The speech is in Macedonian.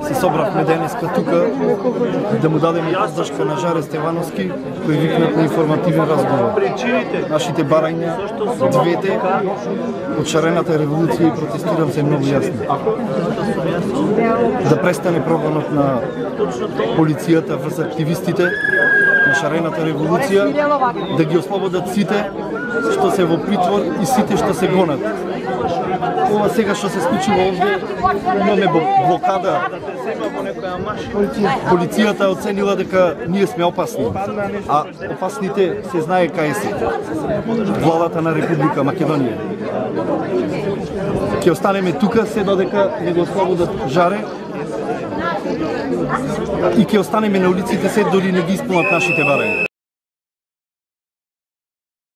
се собравме денеска тука да му дадеме поддршка на Жаре Стевановски, кој викнат на информативен разговор. Нашите барања, двете, од шарената револуција и протестирам се многу јасно. Да престане прогонот на полицијата врз активистите на шарената револуција, да ги ослободат сите што се во притвор и сите што се гонат. Ова сега што се случува овде, имаме блокада. Полицијата оценила дека ние сме опасни, а опасните се знае кај се. Владата на Република Македонија. Ќе останеме тука се додека не го ослободат Жаре и ќе останеме на улиците се дори не ги исполнат нашите барања.